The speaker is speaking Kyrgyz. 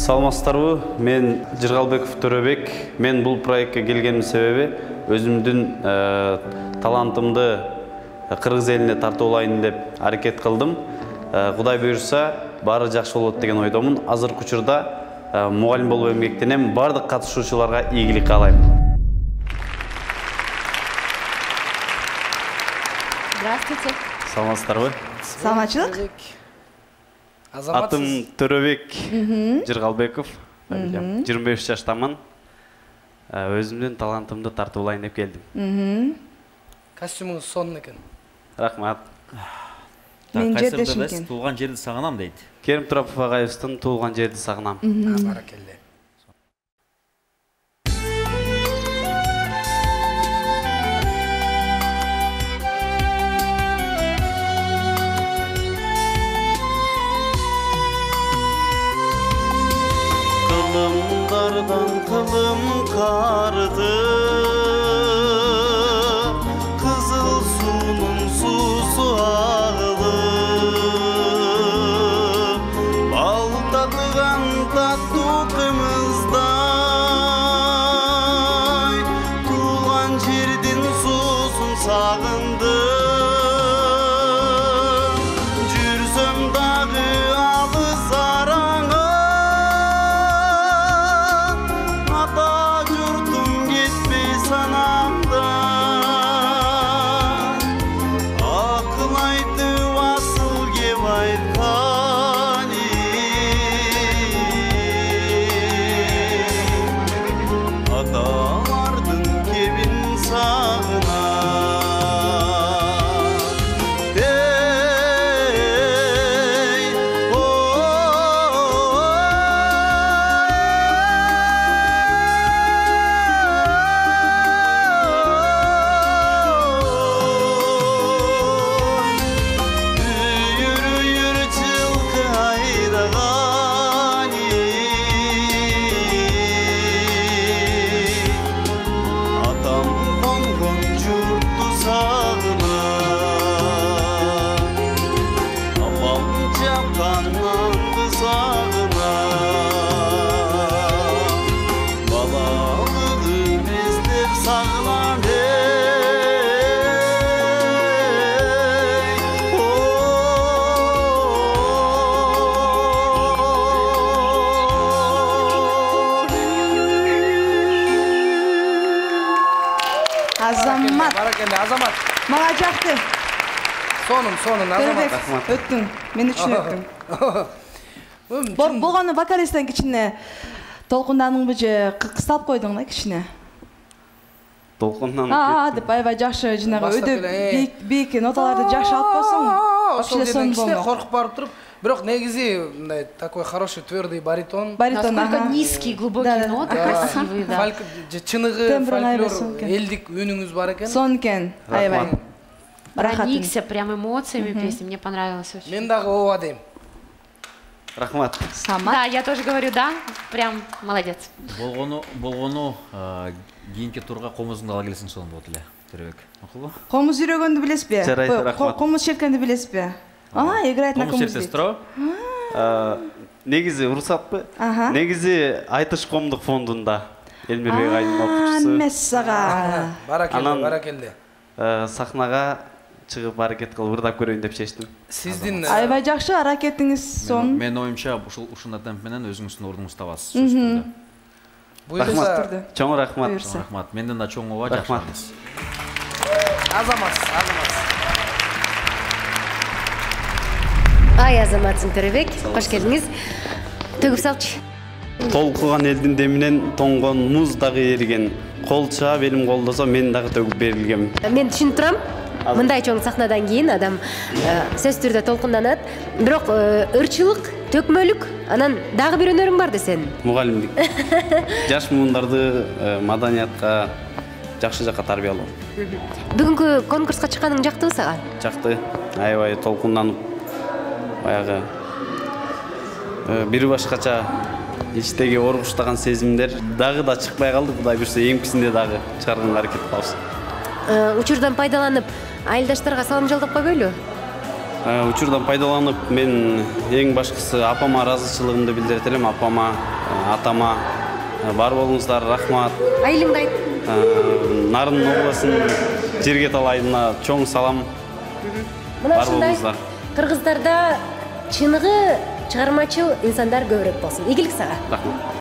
Саламатсыздарбы? Мен Жыргалбеков Төрөбек. Мен бул проектке келгеним себеби өзүмдүн талантымды кыргыз элине тартуулайын деп аракет кылдым. Кудай буйрса, баары жакшы болот деген ойдомун. Азыркы учурда мугалим болуп эмгектенем. Бардык катышуучуларга ийгилик каалайм. Здравствуйте. Саламатсыздарбы? Саламатчылык. Атым Төрөбек Жыргалбеков. 25 жаштамын. Өзүмдүн талантымды тартуулайын деп келдим. Костюмуңуз сонун экен. Рахмат. Мен жердешим экен. Туулган жерди сагынам дейт. Керим Турапов агайыбыздын туулган жерди сагынам. Баракелде. Kılımlardan kılım kardı, kızıl sunun susu ağlı, bal tadıgan tatlı kımızday, tuğan jirdin susun sağındı, jürsöm dağı alız arаңа. Азамат. Баракелде, Азамат. Мага жакты. Сонун, Азамат. Өттүң. Мен үчүн өттүң. Болгону вокалисттен кичине толкундандыңбы же кысталып койдуң да кичине? Толкундан деп аябай жакшы жанагы өйдө бийик ноталарды жакшы алып койсоң, ошол жерден кичине коркуп барып туруп, бирок негизи мындай такой хороший твердый баритон. Насколько низкий, глубокий ноты, красивый, да. Фольк, чыныгы, фольклор, элдик үнүңүз бар экен. Сон экен, аябай. Проникся прям эмоциями песни, мне понравилось очень. Мен дагы ооба дейм. Рахмат. Да, я тоже говорю да, прям молодец. Болгону кийинки турга комузуңду ала келсең сонун болот эле, Төрөбек. Макулбу? Комуз жүрөгөндү билесизби? Жарайт, рахмат. Комуз черткенди билесизби? Играет на комуз. Комуз чертесиз, негизи уруксатпы? Негизи Айтыш коомдук фондунда Элмирбек айдын окуучусу. Мессага. Баракелде. Сахнага чыгып аракет кылып ырдап көрөйүн деп чечтим. Сиздин аябай жакшы аракетиңиз сонун. Менин оюмча ушундай темп менен өзүңүздүн ордуңузду табасыз. Рахмат. Чоң рахмат. Рахмат. Менден да чоң ооба, жакшы. Азамат. Ай, Азаматсың Төрөбек, кош келдиңиз. Төгүп салчы. Толкуган элдин деминен тоңгон муз дагы эриген. Кол чаап элим колдосо мен дагы төгүп берилгем. Мен түшүнүп турам. Мындай чоң сахнадан кийин адам сөзсүз түрдө толкунданат. Бирок ырчылык, төкмөлүк, анан дагы бир өнөрүң бар десең. Мугалимдик. Жаш муундарды маданиятка жакшы жакка тарбиялоо. Бүгүнкү конкурска чыкканың жактыбы сага? Жакты. Аябай толкунданып, баягы бир башкача ичтеги оргуштаган сезимдер дагы да чыкпай калды. Кудай буйрса эмкисинде дагы чыгарганга аракет кылабыз. Учурдан пайдаланып, айылдаштарга салым жолдоп койбойлу? Учурдан пайдаланып, мен эң башкысы апама ыраазычылыгымды билдирет элем. Апама атама бар болуңуздар, рахмат. Айылыңды айт. Нарын областынын Жергет алайына чоң салам. Мына Бар ушундай болуңуздар. кыргыздарда чыныгы чыгармачыл инсандар көбүрөөк болсун. Ийгилик сага. Рахмат.